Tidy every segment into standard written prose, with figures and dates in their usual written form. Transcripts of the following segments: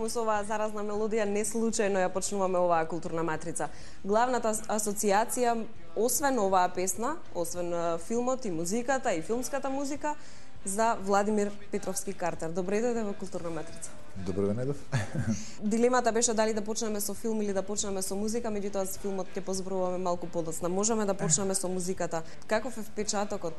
почнувавме со оваа заразна мелодија, не случајно ја почнуваме оваа културна матрица. Главната асоциација, освен оваа песна, освен филмот и музиката и филмската музика, за Владимир Петровски Картер. Добре дојде во културна матрица. Добро ве најдов. Дилемата беше дали да почнеме со филм или да почнеме со музика, меѓутоа с филмот ќе позборуваме малку подоцна. Можеме да почнеме со музиката. Каков е впечатокот,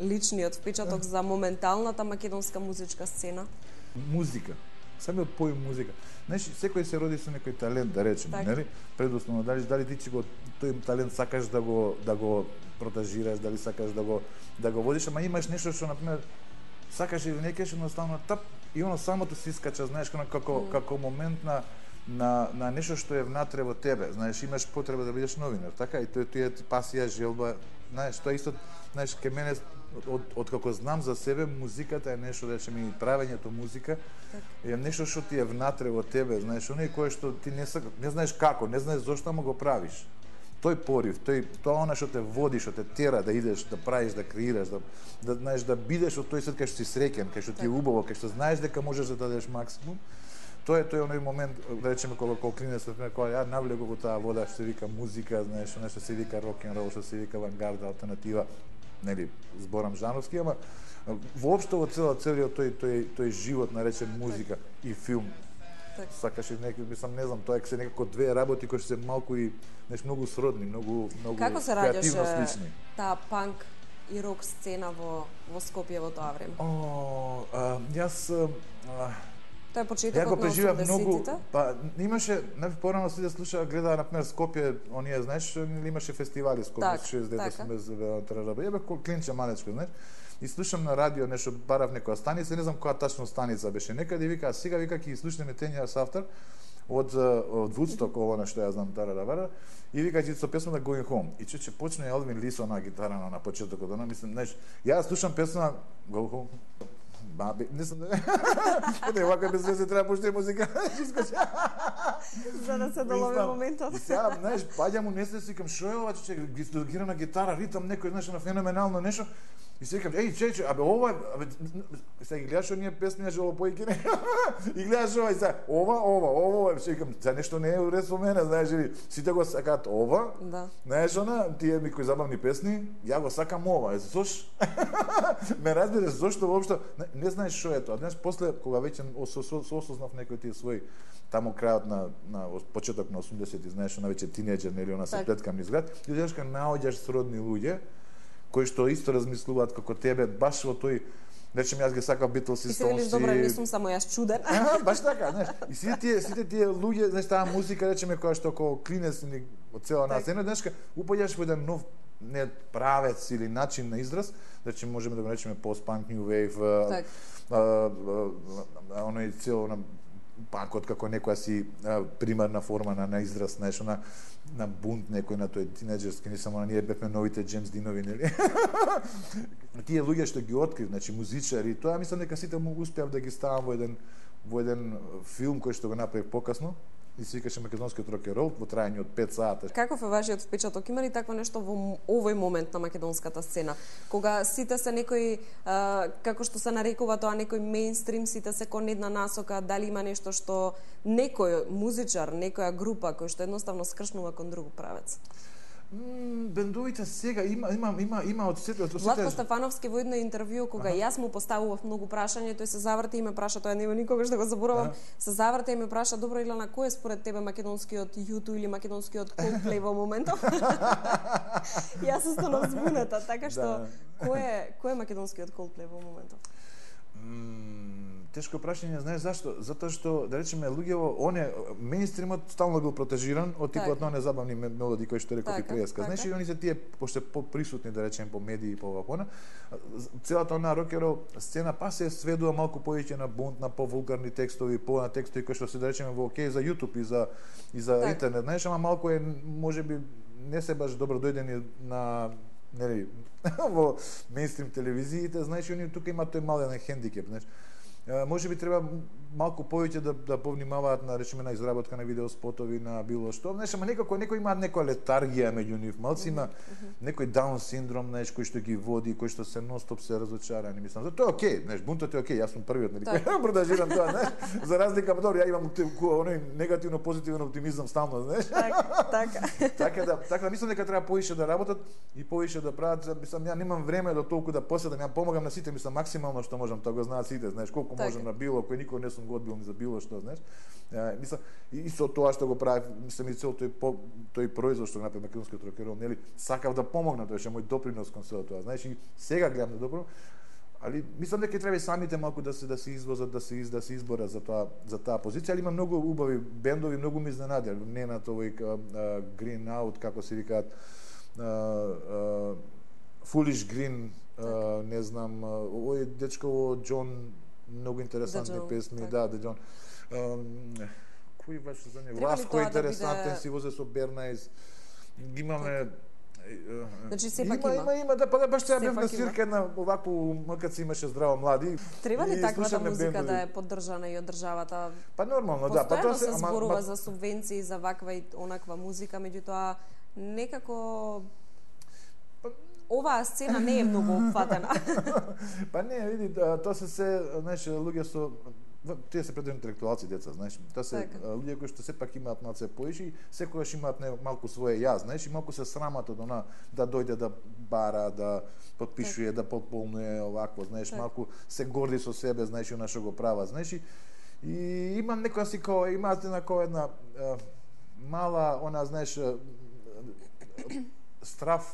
личниот впечаток за моменталната македонска музичка сцена? Музика. Самиот поим музика. Знаеш, секој се роди со некој талент, да речеме, нели? Предусловно, дали ти че го тој талент сакаш да го протажираш, дали сакаш да го водиш, ама имаш нешто што, например, сакаш или не кеш, едноставно тап и оно самото си искача, знаеш, како момент на нешто што е внатре во тебе, знаеш, имаш потреба да бидеш новинар, така? И тоа е пасија, желба, знаеш, тоа исто, знаеш, ке мене од како знам за себе, музиката е нешто, да речеме, и правењето музика е нешто што ти е внатре во тебе, знаеш, оној кој што ти не знаеш како, не знаеш зошто, ама го правиш. Тој порив, тоа она што те води, што те тера да идеш, да правиш, да креираш, да знаеш, да бидеш од тој свет кај што си среќен, кај што ти е убаво, кај што знаеш дека можеш да дадеш максимум. Тоа е оној момент, да речеме, кога клинец, кога ја навлегов во таа вода, што се вика музика, знаеш, нешто се вика рок н рол, што се вика авангарда, алтернатива, нели, зборам жанровски, ама воопшто во целиот тој живот наречен музика и филм. Сакаш и некој, мислам, не знам, тоа е се некако две работи кои се малку и нешто многу сродни, многу како се креативно слични. Таа панк и рок сцена во Скопје во тоа време? Јас Тоа е почетокот на 80-тите? Па имаше, порано се слушаа, гледаа, например, Скопје, оние, знаеш, имаше фестивали Скопје, 60-80, ја бе клинче малечко, знаеш, и слушам на радио нешто, барав некоја станица, не знам која тачно станица беше некаде, и вика, сега вика ќе слушнеме Ten Years After од Woodstock, ово нешто ја знам, тарарабара, и вика ќе со песна на Going Home. И че почне Елвин Лисо на гитара на почетокот, она мислам, знаеш, ја слушам песна Go Home. Баби, не сум не, вака без везе треба пушти музика. За да се долови моментот. И сега, знаеш, паѓам у несте, си викам, шо е ова, че гирана гитара, ритам, некој, знаеш, на феноменално нешто. И си викам, еј, абе, ова, сега ги гледаш оние песни на Желопојки, и гледаш ова, и сега, ова, си викам, за нешто не е уред со мене, знаеш, или сите го сакаат ова, знаеш, тие ми кои забавни песни, ја го сакам ова, зош? Ме разбираш, зошто воопшто, не знаеш шо е тоа. Знаеш, после, кога веќе осознав некој тие свој, таму крајот на почеток на 80-ти, знаеш, она веќе тинеџер, нели, она се плеткам низ град, и знаеш, кога наоѓаш сродни луѓе, кои што исто размислуваат како тебе, баш во тој, речем, јас ги сакав Битлс и Стоунс. И се велиш, добро, не сум само јас чуден. Баш така, знаеш. И сите тие луѓе, знаеш, таа музика, речеме, која што како клинец од цела нас, знаеш, упаѓаш во еден нов не правец или начин на израз, значи можеме да го речеме пост-панк, new wave, оној цел панкот како некоја си примарна форма на израз, знаеш, на бунт некој, на тој тинеџерски, не само на ние бевме новите Джеймс Динови, нели? Тие луѓе што ги открив, значи музичари, тоа мислам дека сите му успеав да ги ставам во еден филм кој што го направив покасно, и се викаше Македонскиот рок-н-рол во трајање од 5 сата. Каков е вашиот впечаток? Има ли такво нешто во овој момент на македонската сцена? Кога сите се некои, како што се нарекува тоа, некој мејнстрим, сите се кон една насока, дали има нешто што некој музичар, некоја група кој што едноставно скршнува кон друг правец? Бендовите сега има од сите. Владко Стефановски во едно интервју, кога јас му поставував многу прашања, тој се заврте и ме праша, тоа нема никогаш да го заборавам, се заврте и ме праша, добро, Илана, кој е според тебе македонскиот U2 или македонскиот Coldplay во моментов? Јас останав збуната, така што кој е македонскиот Coldplay во моментов? Тешко прашање, знаеш зашто? Затоа што, да речеме, луѓето, мејнстримот стално бил протежиран од типот на незабавни мелодии кои што реков и преска. Знаеш, и они се тие пошто поприсутни, да речеме, по медии и по вакона. Целата онаа рокеро сцена па се сведува малку повеќе на бунт, на повулгарни текстови, на текстови кои што се, да речеме, во окей за YouTube и за интернет, знаеш, ама малку е можеби не се баш добро дојдени на нели во мејнстрим телевизиите, знаеш, они тука има тој мален хендикеп, знаеш. Може би треба малку повеќе да повнимаваат на речеме на изработка на видеоспотови, на било што. Знаеш, ама некако некој имаат некоја летаргија меѓу нив. Малци има некој даун синдром, знаеш, кој што ги води, кој што се нон-стоп се разочарани, мислам. Тоа е окей, знаеш, бунтот е окей, јас сум првиот, нели, кој продажирам тоа, знаеш. За разлика од тоа, ја имам оној негативно позитивен оптимизам стално, знаеш. Така да мислам дека треба повише да работат и повише да прават. Мислам, ја немам време до толку да поседам, ја помагам на сите, мислам максимално што можам, тоа го знаат сите, знаеш, колку можам на било, кој никој не сум го одбил ни за било што, знаеш. Мислам и со тоа што го правев, мислам и цел тој производ што направи македонскиот рок-н-рол, нели, сакав да помогнам, тоа е мој допринос кон сето тоа, знаеш, и сега гледам да допринос. Али мислам дека треба и самите малку да се извозат, да се изборат за таа позиција, али има многу убави бендови, многу ми изненадија. Ненат овој Green Out, како се викаат, Foolish Green, не знам, овој дечко Џон, многу интересантни песни, да, Џон. Кој беше за него? Васко интересантен, си возе со Бернајс. Имаме Значи сепак има да баш сега бев на свирка една овакво МКЦ имаше здраво млади. Треба ли таквата музика да е поддржана и од државата? Па нормално, да, па тоа се зборува за субвенции за ваква и онаква музика, меѓутоа некако оваа сцена не е многу опфатена. Па не, види, тоа се, знаеш, луѓе со тие се предвид интелектуалци деца, знаеш, тоа се луѓе кои што сепак имаат малце поише, секогаш имаат малку свое јас, знаеш, и малку се срамат од она да дојде да бара, да потпишува, да подполнува овакво, знаеш, малку се горди со себе, знаеш, она што го права, знаеш, и има некоја си кој имаат една мала, она, знаеш,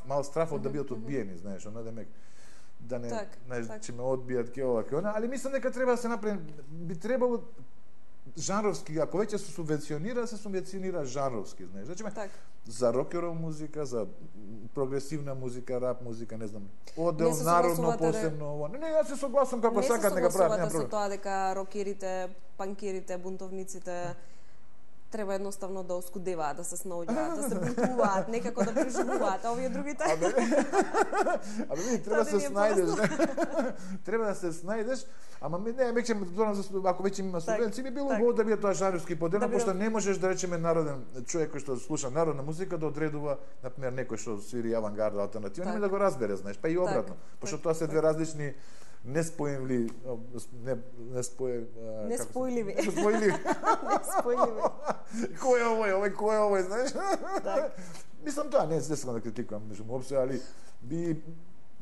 мал страф од да бидат одбиени, знаеш, она да не, знаеш, че ме одбијат ке ова, ке она, али мислам дека треба да се направи, би требало жанровски, ако веќе се субвенционира жанровски, знаеш, значи за рок-н-рол музика, за прогресивна музика, рап музика, не знам, одел народно посебно ова. Не, јас се согласам како сакат нека прават, нема проблем. Не се согласувате со тоа дека рокерите, панкерите, бунтовниците треба едноставно да оскудеваат, да се снаоѓаат, да се бунтуваат, некако да преживуваат, а овие другите. Абе, види, треба да се снајдеш. Треба да се снајдеш, ама не, веќе ако веќе има субвенции, би било убаво да биде тоа жанровски поделено, пошто не можеш да речеме народен човек кој што слуша народна музика да одредува, например, некој што свири авангарда, алтернатива, нема да го разбере, знаеш, па и обратно, пошто тоа се две различни неспојливи. Кој е овој, знаеш? Мислам тоа, не сакам да критикувам меѓу опсе, али би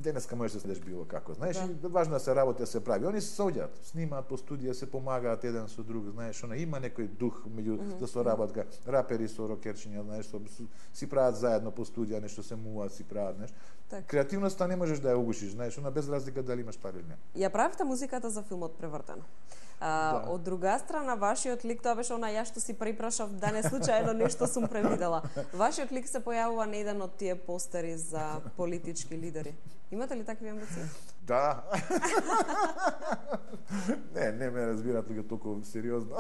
денеска можеш да следиш било како, знаеш, и важно да се работи, да се прави. Они се соѓаат, снимаат по студија, се помагаат еден со друг, знаеш, она има некој дух меѓу да соработка, рапери со рокерчиња, знаеш, си прават заедно по студија, нешто се муваат, си прават, знаеш. Креативноста не можеш да ја угушиш, знаеш, она без разлика дали имаш пари или не. Ја правите музиката за филмот Превртено. Од друга страна, вашиот лик, тоа беше она ја што си препрашав, да не случајно нешто сум превидела. Вашиот лик се појавува на еден од тие постери за политички лидери. Имате ли такви амбиции? Да. Не ме разбират луѓе толку сериозно.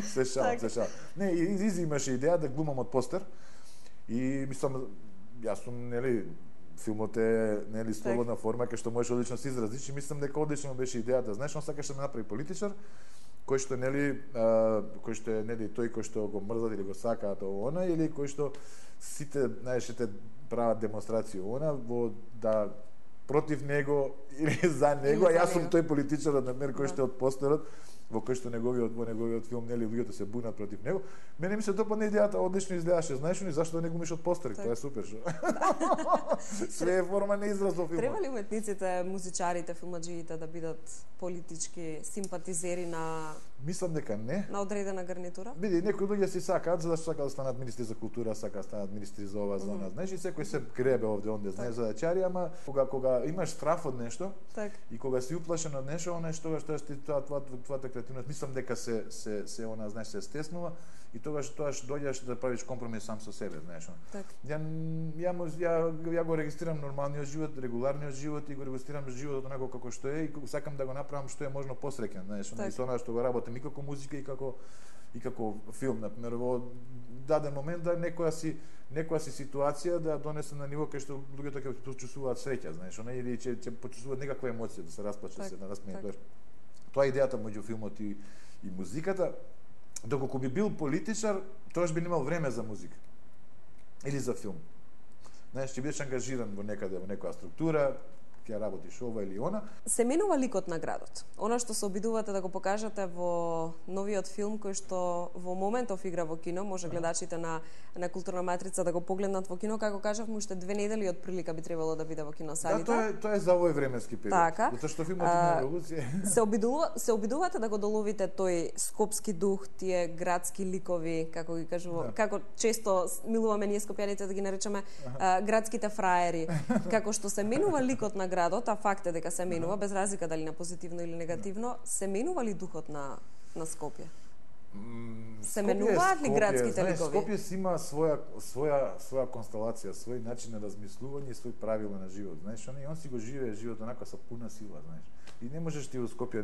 Се шал. Не, Изи имаше идеја да глумам од постер и мислам, јас сум, нели, филмот е, нели, слободна форма кај што можеш одлично се изразиш и мислам дека одлично беше идејата, знаеш, он сакаше да ме направи политичар кој што, нели, кој што е, нели, тој кој што го мрзат или го сакаат она, или кој што сите, знаеш, те прават демонстрација она во да против него или за него, а јас сум тој политичар, например, кој што е од постерот во кој што во неговиот филм, нели, луѓето се бунат против него. Мене ми се допадна идејата, одлично изгледаше, знаеш ли, зашто да не го миш од постери, тоа е супер што. Све е форма на израз во филмот. Треба ли уметниците, музичарите, филмаџиите да бидат политички симпатизери на Мислам дека не. На одредена гарнитура? Види, некои луѓе си сакаат, за да сакаат да станат министри за култура, сакаат да станат министри за ова, за она. Знаеш, и секој се гребе овде онде, знаеш, за да чари, ама кога имаш страф од нешто, и кога си уплашен од нешто, она што твојата креативност, мислам дека се она, знаеш, се стеснува и тогаш доаѓаш да правиш компромис сам со себе, знаеш. Ја го регистрирам нормалниот живот, регуларниот живот и го регистрирам животот онако како што е и сакам да го направам што е можно посреќен, знаеш, и со она што го работам и како музика и како филм, например, во даден момент да некоја си ситуација да донесе на ниво кај што луѓето ќе почувствуваат среќа, знаеш, или ќе почувствуваат некаква емоција, да се расплачат, се да насмеат. Тоа е идејата меѓу филмот и музиката. Доколку би бил политичар, тоаш би немал време за музика. Или за филм. Знаеш, ќе бидеш ангажиран во некаде, во некоја структура, ќе работиш ова или она. Се менува ликот на градот. Она што се обидувате да го покажете во новиот филм кој што во моментов игра во кино, може гледачите на Културна матрица да го погледнат во кино, како кажавме, уште 2 недели од прилика би требало да биде во киносалите. Да, тоа е за овој временски период. Така. Затоа што филмот има револуција. Се обидувате да го доловите тој скопски дух, тие градски ликови, како ги кажува, како често милуваме ние скопјаните да ги наречеме градските фраери, како што се менува ликот на градот, а факт е дека се менува, без разлика дали на позитивно или негативно, се менува ли духот на Скопје? Се менуваат ли градските ликови? Скопје си има своја констелација, свој начин на размислување и свој правила на живот. Знаеш, он си го живее живот онака со пуна сила, знаеш. И не можеш ти во Скопје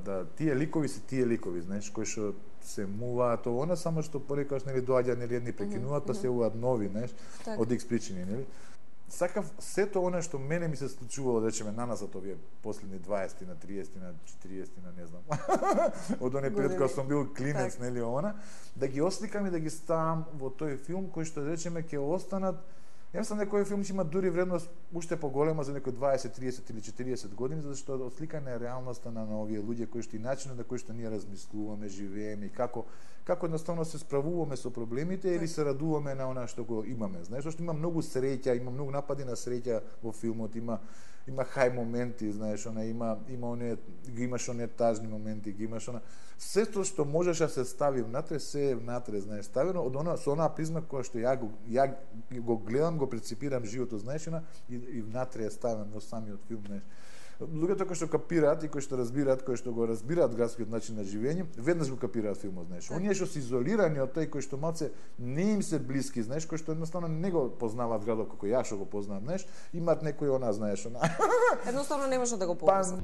да тие ликови се тие ликови, знаеш, кои што се муваат она, само што порекаш нели доаѓа нели едни прекинуваат, па се уваат нови, знаеш, од X причини, нели? Сакав сето она што мене ми се случувало, да речеме, наназад овие последни 20 на 30 на 40 на не знам. Од оној период кога сум бил клинец, нели она, да ги осликам и да ги ставам во тој филм кој што да речеме ќе останат. Ја сам некој филм ќе има дури вредност уште поголема за некој 20, 30 или 40 години, затоа што осликана е реалноста на овие луѓе кои што и начинот на кој што ние размислуваме, живееме и како едноставно се справуваме со проблемите или се радуваме на она што го имаме. Знаеш, што има многу среќа, има многу напади на среќа во филмот, има хај моменти, знаеш, имаш оние тажни моменти, имаш сето што можеш да се стави внатре, се е внатре, знаеш, ставено со онаа призма која што ја го гледам, го прецепирам животот, знаеш, и внатре е ставен во самиот филм, знаеш. Луѓето кои што капираат и кои што го разбираат градскиот начин на живење, веднаш го капираат филмот, знаеш. Оние што се изолирани од тој кој што малце не им се блиски, знаеш, кои што едноставно не го познаваат градот како ја што го познавам, знаеш, имаат некој знаеш, едноставно не може да го поврзат.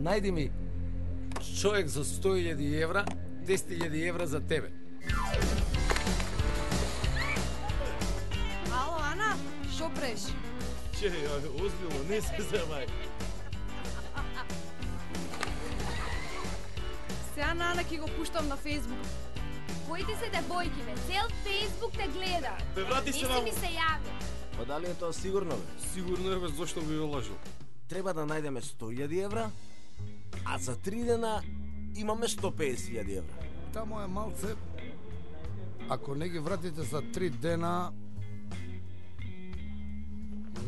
Најди ми човек за 100.000 евра, 10.000 евра за тебе. Ало, Ана, шо преш? Че, озбилно, не се замај. Сега на Ана ќе го пуштам на Фејсбук. Коите се девојки, бе, цел Фејсбук те гледа. Бе, врати се не си ми се јави. Па дали е тоа сигурно, бе? Сигурно е, бе, зашто би го лажил? Треба да најдеме 100.000 евра, а за 3 дена имаме 150.000 евра. Тамо е малце. Ако не ги вратите за 3 дена,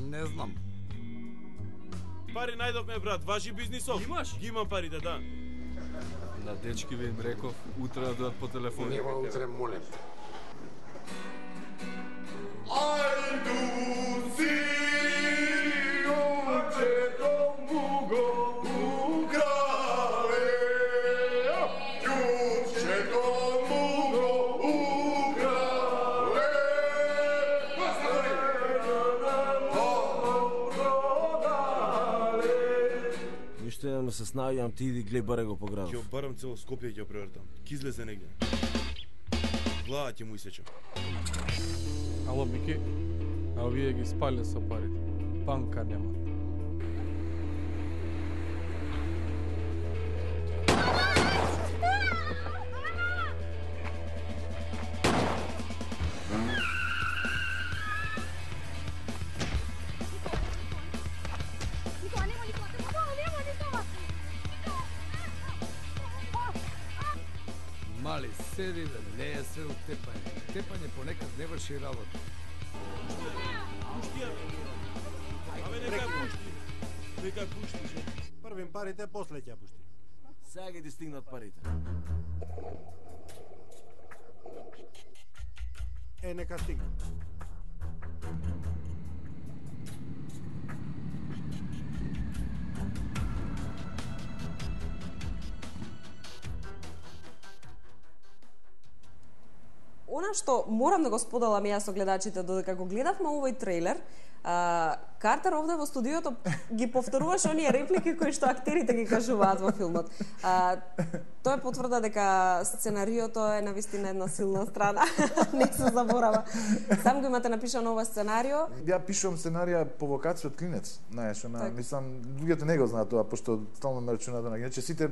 не знам. Пари најдовме, брат, важи бизнисов. Имаш? Ги имам парите, да. На дечки ви им реков, утре да дојат по телефон. Нема утре, молем. Ајдуци, очето муго украле, ќучето муго украле, Ништо не се снаоѓам, ти иди глеј баре го по градот. Ќе барам цело Скопје ќе превртам. Ки излезе негде. Глава ќе му исечам. Ало, Мики, а овие ги спале со парите. Банка нема. Мали, седи да не е све од тепање. Тепање понекад не врши работа. Пушти ја. Абе, нека ја пушти. Нека ја пушти. Првим парите, после ќе ја пушти. Сега ги ти стигнат парите. Нека стигне. Она што морам да го споделам јас со гледачите додека го гледавме овој трейлер, Картер овде во студиото ги повторуваше оние реплики кои што актерите ги кажуваат во филмот. Тој потврда дека сценариото е навистина една силна страна. Не се заборава. Сам го имате напишано ова сценарио? Ја пишувам сценарија по вокација од клинец. Знаеш, мислам, луѓето не го знаат тоа, пошто стално ме рачунат на иначе сите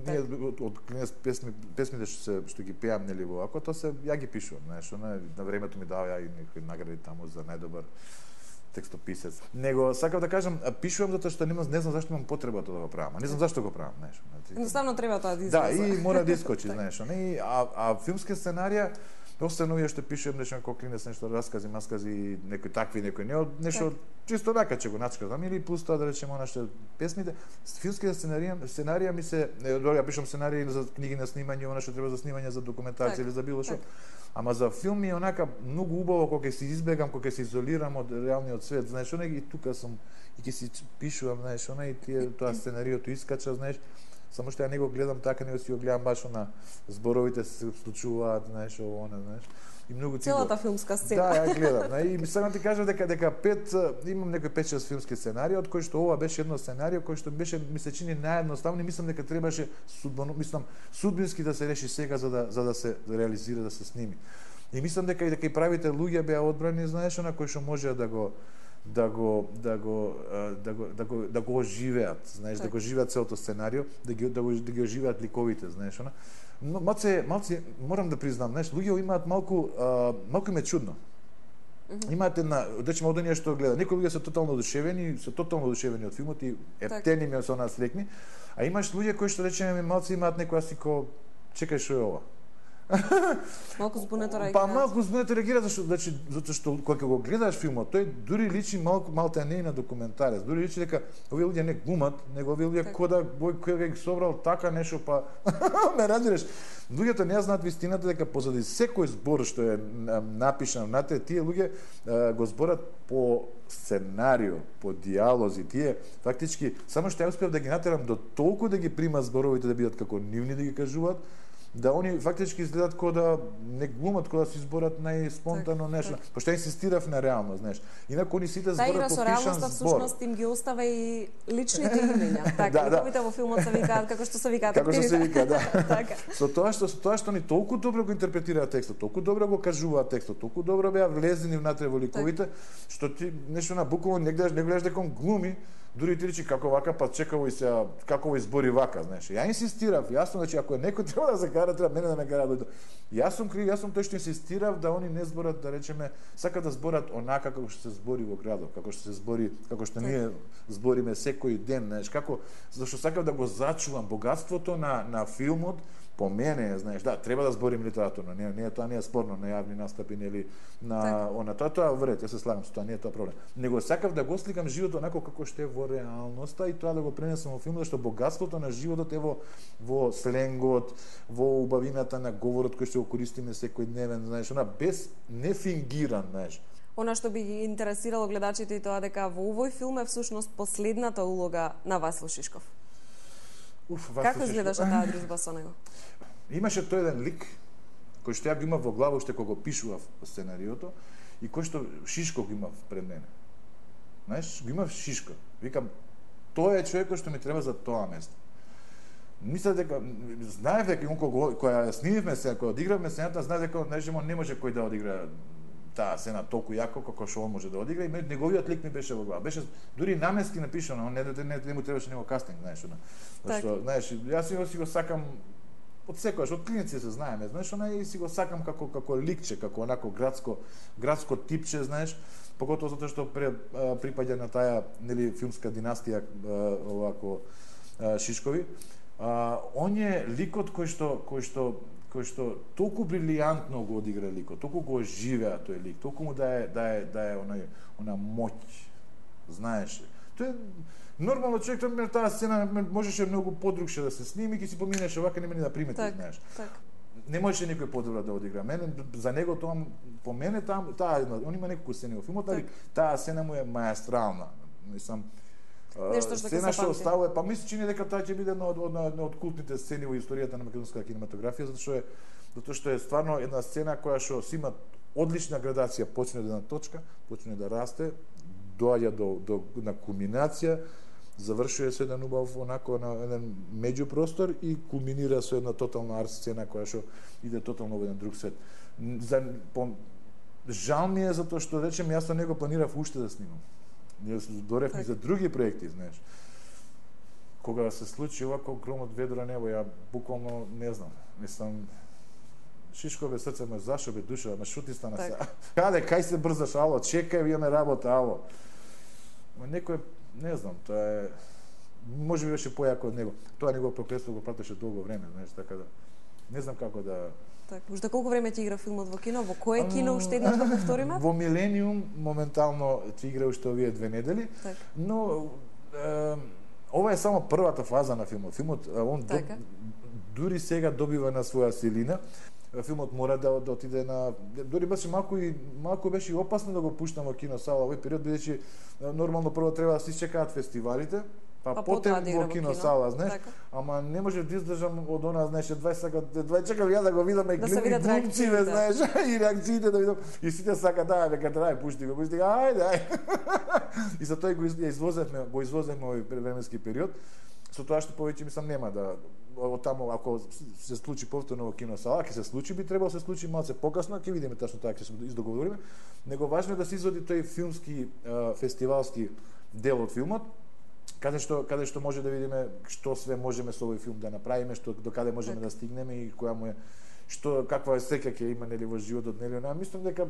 ние од клинец песмите што ги пеам нели во ако тоа се ја ги пишувам, знаеш, на времето ми дава и некои награди таму за најдобар текстописец. Него сакав да кажам, пишувам затоа што не знам зашто имам потребата да го правам. Не знам зашто го правам, знаеш. Едноставно треба тоа да излезе. Да, и мора да искочи, знаеш. А филмски сценарија остано што пишувам нешто како клинец, нешто раскази, маскази, некои такви, некои не, нешто чисто така че го начкам, или плюс тоа да речеме она што песмите, филмските сценарија ми се, ја пишам сценарии за книги на снимање, она што треба за снимање за документација или за било што. Ама за филм е онака многу убаво кога ќе се избегам, кога ќе се изолирам од реалниот свет, знаеш, и тука сум и ќе си пишувам, знаеш, и тие тоа сценариото искача, знаеш. Само што ја не го гледам така, него си го гледам баш на зборовите се случуваат, знаеш, знаеш. И многу целата филмска сцена. Да, ја гледам. И сакам ти кажам дека имам некои 5-6 филмски сценарии, од кои што ова беше едно сценарио кој што беше ми се чини наједноставно и мислам дека требаше судбински да се реши сега за да се реализира, да се сними. И мислам дека и правите луѓе беа одбрани, знаеш, на кои што можеа да го оживеат, знаеш, да го живеат целото сценарио, да ги оживеат ликовите, знаеш, Но малце морам да признам, знаеш, луѓе имаат малку им е чудно. Имаат речеме од оние што гледа. Некои луѓе се тотално одушевени од филмот и ептени ми се онаа слекни, а имаш луѓе кои што речеме малце имаат некоја сико чекај што е ова. Малку збунето реагира. Па малку збунето реагира затоа што кога го гледаш филмот, тој дури личи малку не на документарец. Дури личи дека овие луѓе не глумат, него овие луѓе кода кој ги собрал така нешто па ме разбираш. Луѓето не знаат вистината дека позади секој збор што е напишан внатре, тие луѓе го зборат по сценарио, по диалози, тие фактички само што ја успеав да ги натерам до толку да ги примат зборовите да бидат како нивни да ги кажуваат, да они фактички изгледат како да не глумат, како да се изборат најспонтано нешто. Пошто инсистирав на реално, знаеш. Инаку они сите зборат по пишан збор. Всушност им ги остава и личните имења. Така, ликовите во филмот се викаат како што се викаат актерите. Како што се вика, да. Така. Со тоа што они толку добро го интерпретираат текстот, толку добро го кажуваат текстот, толку добро беа влезени внатре во ликовите, што ти нешто на буквално не гледаш дека он глуми, дури ти речи како вака, па чекаво и се како во избори вака, знаеш. Ја инсистирав, јасно значи ако некој треба да се кара, треба мене да ме кара дојде. Јас сум крив, јас сум тој што инсистирав да они не зборат, да речеме, сакат да зборат онака како што се збори во градот, како што се збори, како што ние збориме секој ден, знаеш, како зашто сакав да го зачувам богатството на филмот. По мене, знаеш, да, треба да зборим литературно, тоа не е спорно на јавни настапи или на она, тоа вред, ја се слагам со тоа, не е тоа проблем. Него сакав да го сликам животот онако како што е во реалноста и тоа да го пренесам во филмот, зашто богатството на животот е во сленгот, во убавината на говорот кој што го користиме секојдневен, знаеш, без не фингиран, знаеш. Она што би ги интересирало гледачите и тоа дека во овој филм е всушност последната улога на Васил Шишков. Како изгледаше таа дружба со него? Имаше тој еден лик кој што ја го имав во глава уште кога го пишував сценариото и кој што Шишков го имав пред мене. Знаеш, го имав Шишков. Викам, тоа е човекот што ми треба за тоа место. Мислев дека знаев дека кога снимивме се, кога одигравме сцената, знаев дека не може кој да одигра таа сцена толку јако како што он може да одигра и неговиот лик ми беше во глава. Беше дури намески напишано, не му требаше него кастинг, знаеш, зашто, знаеш, јас си го сакам од секојаш, од клиници се знаеме, знаеш, и си го сакам како ликче, како онако градско типче, знаеш, поготово затоа што припаѓа на таа нели филмска династија овако Шишкови. Он е ликот кој што толку брилијантно го одигра ликот, толку го оживеа тој лик, толку му да е она моќ, знаеш. Тој нормално човек, таа сцена можеше многу подрукше да се сними, ќе си поминеше вака, нема ни да примети, знаеш. Не можеше некој подобро да одигра. Мене за него тоа по мене таа он има неколку сцени во филмот, таа сцена му е маестрална. Мислам, сцена што оставува, па ми се чини дека таа ќе биде една од култните сцени во историјата на македонската кинематографија, затоа што е стварно една сцена која што си има одлична градација, почне од една точка, почне да расте, доаѓа на кулминација, завршува со еден убав онако на еден меѓупростор и кулминира со една тотална арт сцена која што иде тотално во еден друг свет. Жал ми е затоа што речем јас не го планирав уште да снимам. Јас доревме за други проекти, знаеш. Кога се случи овако гром од ведро небо, ја буквално не знам, мислам шишко бе срце ме зашо бе душа, ме шути стана се. Кај се брзаш, ало, чекај, имаме работа, ало. Некој, не знам, тоа е може би беше појако од него. Тоа негово проклетство го пратеше долго време, знаеш, така да не знам како да. Така, уште колку време ти игра филмот во кино? Во кое кино уште еднаш да повториме? Во Милениум моментално ти игра уште овие 2 недели, но ова е само првата фаза на филмот. Филмот он дури сега добива на своја силина. Филмот мора да отиде на дури беше малку беше и опасно да го пуштам во киносала овој период, бидејќи нормално прво треба да се исчекаат фестивалите, па потем во киносала, знаеш, ама не може да издржам од она, знаеш, 20 чекам ја да го видам и глумците, знаеш, и реакциите да видам, и сите сака да, дека трај пушти го, ајде. И за тој го извозевме овој временски период. Со тоа што повеќе мислам нема да таму ако се случи повторно во киносала, ќе се случи, би требало се случи малце покасно, ќе видиме тачно така ќе се издоговориме. Него важно е да се изводи тој филмски фестивалски дел од филмот, каде што може да видиме што све можеме со овој филм да направиме, што до каде можеме да стигнеме и која му е каква е среќа ќе има нели во животот, нели она. Мислам дека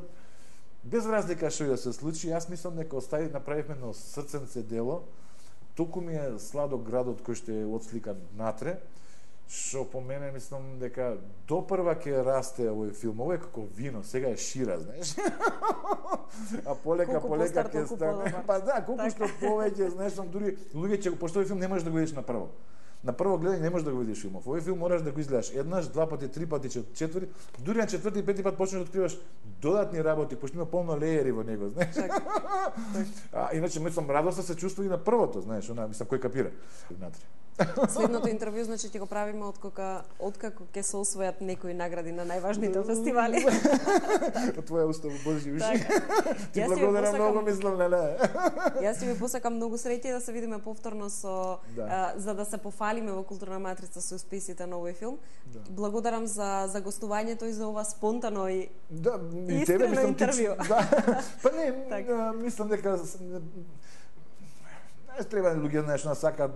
без разлика што да се случи, јас мислам дека направивме едно срценце дело. Толку ми е сладок градот кој што е отсликан натре, што по мене мислам дека допрва ќе расте овој филм. Овој е како вино, сега е шира, знаеш. А полека ќе стане. Па да, колку што повеќе, знаеш, дури луѓе ќе пошто овој филм не можеш да го видиш направо. На прво гледање не можеш да го видиш филмов. Овој филм мораш да го изгледаш еднаш, 2 пати, 3 пати, 4, дури на 4-ти и 5-ти пат почнеш да откриваш додатни работи, пошто има полно леери во него, знаеш. Иначе мислам радоста се чувствува и на првото, знаеш, она мислам кој капира внатре. Следното интервју значи ќе го правиме откако ќе се освојат некои награди на најважните фестивали. Од твоја уста Божи уши. Ти благодарам многу, мислам, не. Јас ти ви посакам многу среќа и да се видиме повторно за да се пофалиме во Културна матрица со успесите на овој филм. Благодарам за гостувањето и за ова спонтано и искрено интервју. Па не, мислам дека треба луѓе нешто сака.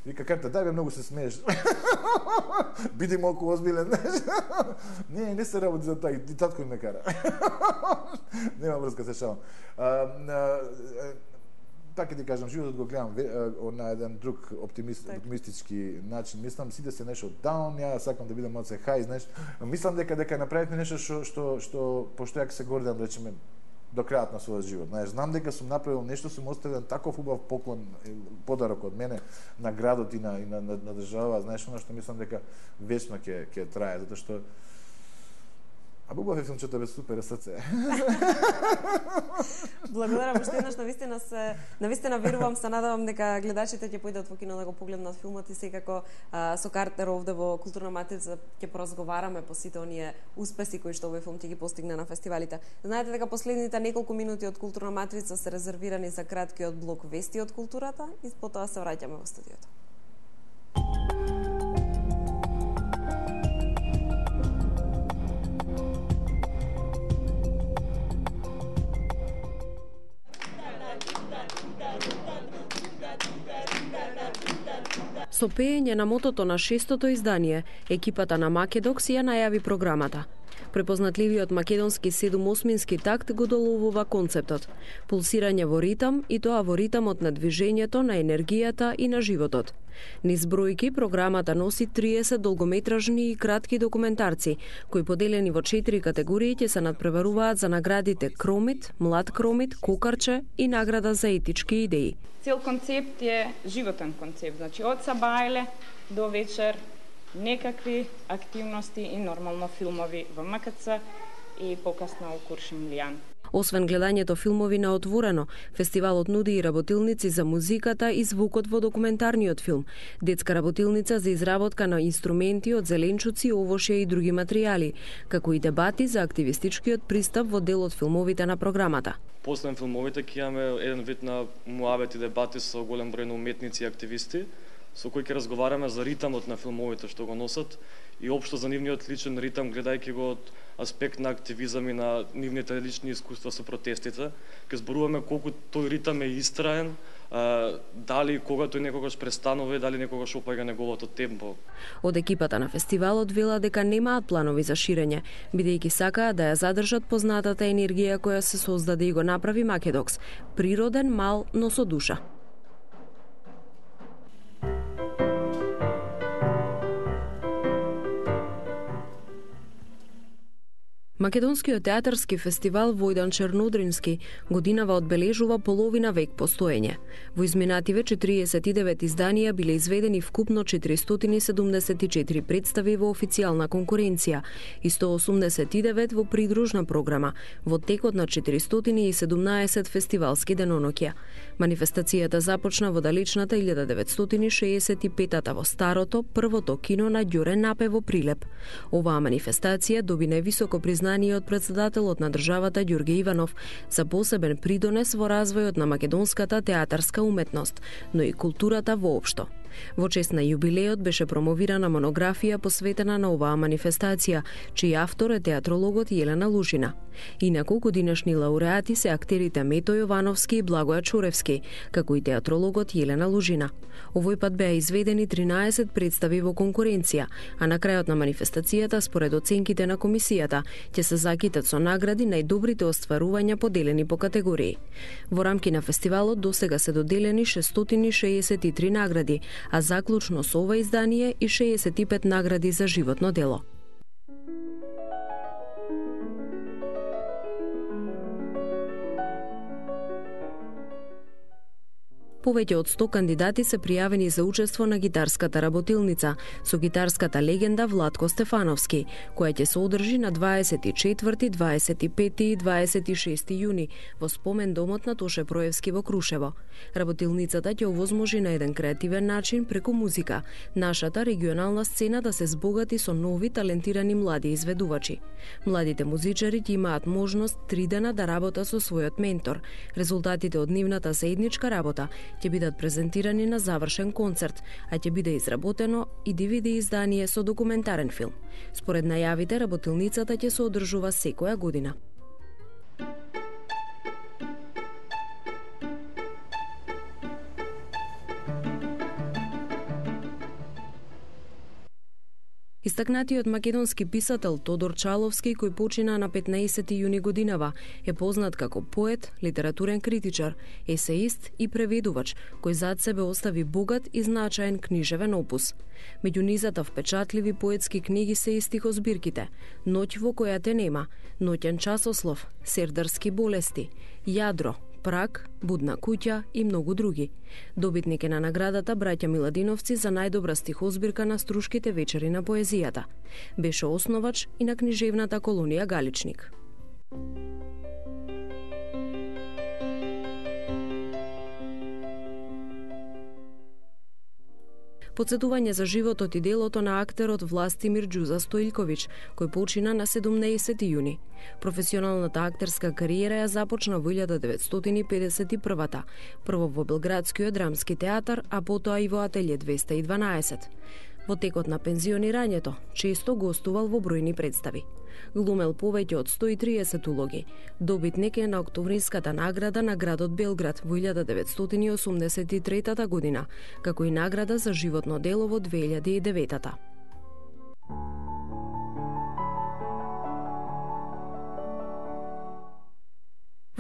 Вика карта, дај бе, многу се смееш. Биди малку озбилен. Не се работи за тоа, и татко ме кара. Нема врска, се шалам. Така ти кажам, животот го гледам на еден друг оптимистички начин. Мислам, сите се нешто даун, ја сакам да бидам малце хај, знаеш. Мислам дека направивме нешто што пошто ја се гордам, речеме, до крајот на својот живот. Знаеш, знам дека сум направил нешто, сум оставил таков убав поклон, подарок од мене на градот и на држава, знаеш, она што мислам дека вечно ќе трае, затоа што убав е филмчето, бе, супер срце. Благодарам уште еднаш, навистина верувам, се надевам дека гледачите ќе појдат во кино да го погледнат филмот и секако со Картер овде во Културна матрица ќе поразговараме по сите оние успеси кои што овој филм ќе ги постигне на фестивалите. Знаете дека последните неколку минути од Културна матрица се резервирани за краткиот блок вести од културата и потоа се враќаме во студиото. Со пеење на мотото на 6-тото издание, екипата на Македокс ја најави програмата. Препознатливиот македонски 7/8-мински такт го доловува концептот. Пулсирање во ритам и тоа во ритамот на движењето, на енергијата и на животот. Низ бројки, програмата носи 30 долгометражни и кратки документарци, кои поделени во 4 категории ќе се надпреваруваат за наградите Кромит, Млад Кромит, Кокарче и награда за етички идеи. Цел концепт е животен концепт, значи од сабајле до вечер некакви активности и нормално филмови во МКЦ и покасно у Куршумлијан. Освен гледањето филмови на отворено, фестивалот нуди и работилници за музиката и звукот во документарниот филм, детска работилница за изработка на инструменти од зеленчуци, овошје и други материјали, како и дебати за активистичкиот пристап во дел од филмовите на програмата. после филмовите ќе имаме еден вид на муабет и дебати со голем број на уметници и активисти, со кои ќе разговараме за ритамот на филмовите што го носат и општо за нивниот личен ритам, гледајќи го од аспект на активизам и на нивните лични искуства со протестите. Ке зборуваме колку тој ритам е истраен, дали кога тој некогаш престанува и дали некогаш опаѓа неговото темпо. Од екипата на фестивалот вела дека немаат планови за ширење, бидејќи сакаат да ја задржат познатата енергија која се создаде и го направи Македокс, природен, мал, но со душа. Македонскиот театарски фестивал Војдан Чернудрински годинава одбележува половина век постоење. Во изминативе 49 изданија биле изведени вкупно 474 представи во официјална конкуренција и 189 во придружна програма во текот на 417 фестивалски деноноќја. Манифестацијата започна во далечната 1965-та во старото, првото кино на Ѓоре Напе во Прилеп. Оваа манифестација доби највисоко признание од председателот на државата Ѓорге Иванов за посебен придонес во развојот на македонската театарска уметност, но и културата воопшто. Во чест на јубилеот беше промовирана монографија посветена на оваа манифестација, чиј автор е театрологот Јелена Лужина. Инаку годинешни лауреати се актерите Мето Јовановски и Благоја Чуревски, како и театрологот Јелена Лужина. Овој пат беа изведени 13 представи во конкуренција, а на крајот на манифестацијата, според оценките на комисијата, ќе се закитат со награди најдобрите остварувања поделени по категории. Во рамки на фестивалот досега се доделени 663 награди, а заклучно со ова издание и 65 награди за животно дело. Повеќе од 100 кандидати се пријавени за учество на гитарската работилница со гитарската легенда Владко Стефановски, која ќе се одржи на 24, 25 и 26 јуни во спомен домот на Тоше Проевски во Крушево. Работилницата ќе овозможи на еден креативен начин преку музика нашата регионална сцена да се збогати со нови талентирани млади изведувачи. Младите музичари ќе имаат можност 3 дена да работат со својот ментор. Резултатите од нивната заедничка работа ќе бидат презентирани на завршен концерт, а ќе биде изработено и DVD издание со документарен филм. Според најавите, работилницата ќе се одржува секоја година. Истакнатиот македонски писател Тодор Чаловски, кој почина на 15 јуни годинава, е познат како поет, литературен критичар, есеист и преведувач, кој зад себе остави богат и значаен книжевен опус. Меѓу низата впечатливи поетски книги се и стихозбирките Ноќ во која те нема, Ноќен часослов, Сердарски болести, Јадро, Прак, Будна куќа и многу други. Добитник е на наградата Браќа Миладиновци за најдобра стихозбирка на Струшките вечери на поезијата. Беше основач и на книжевната колонија Галичник. Подсетување за животот и делото на актерот Властимир Ѓуза Стоилковиќ, кој почина на 17 јуни. Професионалната актерска кариера ја започна во 1951-та, прво во Белградскиот драмски театар, а потоа и во Ателје 212. Во текот на пензионирањето, често гостувал во бројни представи. Глумел повеќе од 130 улоги. Добитник е на Октомвриската награда на градот Белград во 1983 година, како и награда за животно дело во 2009.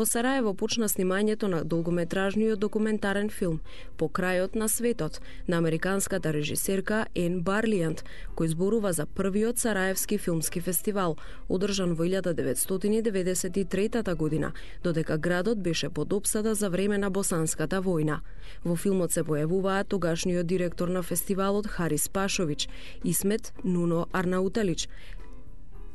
Во Сараево почна снимањето на долгометражниот документарен филм По крајот на светот на американската режисерка Ен Барлијант, кој зборува за првиот Сараевски филмски фестивал, одржан во 1993 година, додека градот беше под опсада за време на Босанската војна. Во филмот се појавуваат тогашниот директор на фестивалот Харис Пашовиќ, Исмет Нуно Арнауталиќ,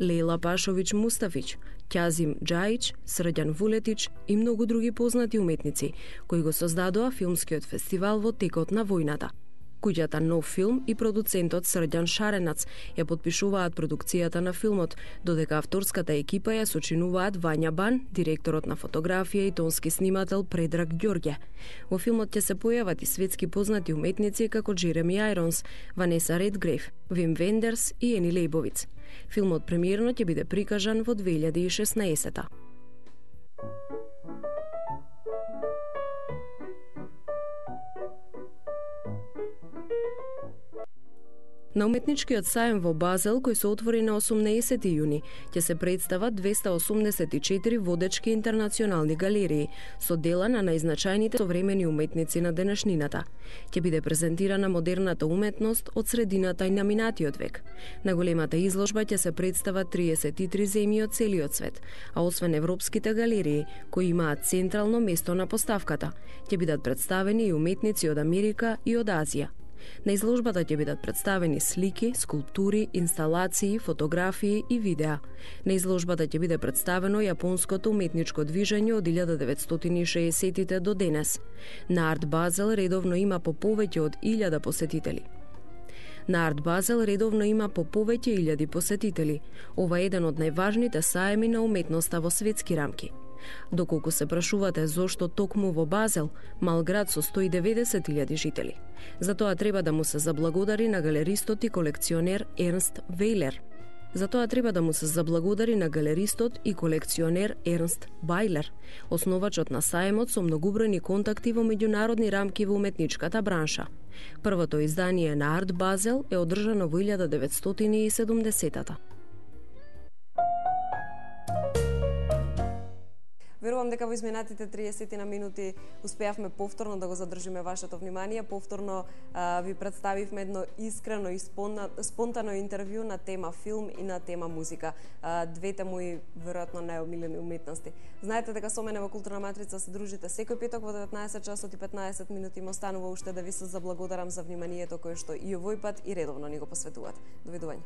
Лейла Пашовиќ Мустафиќ, Ќазим Џаиќ, Срđан Вулетиќ и многу други познати уметници, кои го создадоа филмскиот фестивал во текот на војната. Куќата Нов филм и продуцентот Срđan Шаренац ја подпишуваат продукцијата на филмот, додека авторската екипа ја сочинуваат Вања Бан, директорот на фотографија и тонски снимател Предраг Ѓорѓе. Во филмот ќе се појават и светски познати уметници како Джереми Ајронс, Ванеса Редгрейв, Вим Вендерс и Ени Лејбовиц. Филмот премиерно ќе биде прикажан во 2016. На уметничкиот сајм во Базел, кој се отвори на 18 јуни, ќе се представат 284 водечки интернационални галерии со дела на најзначајните современи уметници на денешнината. Ќе биде презентирана модерната уметност од средината и на минатиот век. На големата изложба ќе се представат 33 земји од целиот свет, а освен европските галерии, кои имаат централно место на поставката, ќе бидат представени и уметници од Америка и од Азија. На изложбата ќе бидат представени слики, скулптури, инсталации, фотографии и видеа. На изложбата ќе биде представено јапонското уметничко движење од 1960-тите до денес. На Арт Базел редовно има по повеќе од 1000 посетители. На Арт Базел редовно има по повеќе илјади посетители. Ова е еден од најважните саеми на уметноста во светски рамки. Доколку се прашувате зошто токму во Базел, мал град со 190.000 жители. Затоа треба да му се заблагодари на галеристот и колекционер Ернст Вейлер. Бајлер, основачот на саемот со многубројни контакти во меѓународни рамки во уметничката бранша. Првото издание на Арт Базел е одржано во 1970-та. Верувам дека во изминатите 30 минути успеавме повторно да го задржиме вашето внимание. Повторно ви представивме едно искрено и спонтано интервју на тема филм и на тема музика. Двете мои веројатно најомилени уметности. Знаете дека со мене во Културна матрица се дружите секој петок во 19 часот и 15 минути. Ме останува уште да ви се заблагодарам за вниманието кое што и овој пат и редовно ни го посветувате. Довидување.